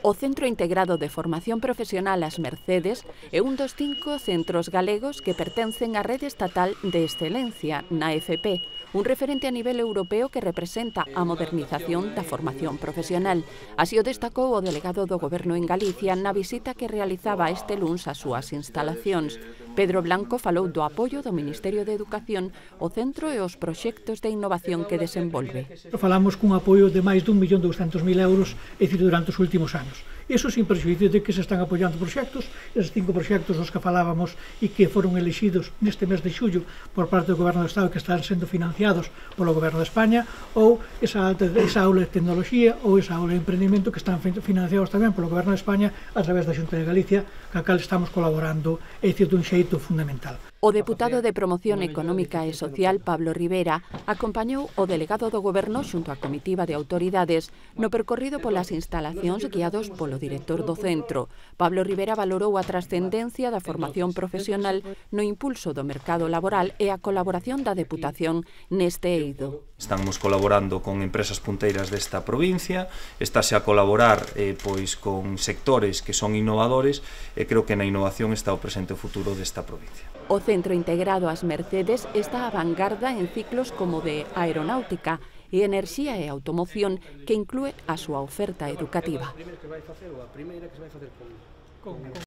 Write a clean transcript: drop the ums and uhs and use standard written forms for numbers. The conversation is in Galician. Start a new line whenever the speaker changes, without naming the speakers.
O Centro Integrado de Formación Profesional As Mercedes é un dos 5 centros galegos que pertencen á Rede Estatal de Excelencia na FP, un referente a nivel europeo que representa a modernización da formación profesional. Así o destacou o delegado do Goberno en Galicia na visita que realizaba este luns ás súas instalacións. Pedro Blanco falou do apoio do Ministerio de Educación ao centro e os proxectos de innovación que desenvolve.
Falamos cun apoio de máis de 1.200.000 euros, é dicir, durante os últimos anos. Iso sin prexuízo de que se están apoiando proxectos, esos 5 proxectos dos que falábamos e que foron elixidos neste mes de xullo por parte do Goberno do Estado que están sendo financiados polo Goberno de España, ou esa aula de tecnoloxía ou esa aula de emprendimento que están financiados tamén polo Goberno de España a través da Xunta de Galicia, ca cal estamos colaborando, é dicir, dun xeito fundamental.
O deputado de Promoción Económica e Social, Pablo Rivera, acompañou o delegado do Goberno xunto á comitiva de autoridades no percorrido polas instalacións guiados polo director do centro. Pablo Rivera valorou a trascendencia da formación profesional no impulso do mercado laboral e a colaboración da Deputación neste eido.
Estamos colaborando con empresas punteiras desta provincia, estáse a colaborar pois con sectores que son innovadores e creo que na innovación está o presente e o futuro desta provincia.
O Centro Integrado As Mercedes está a vanguarda en ciclos como de aeronáutica e enerxía e automoción que inclúe a súa oferta educativa.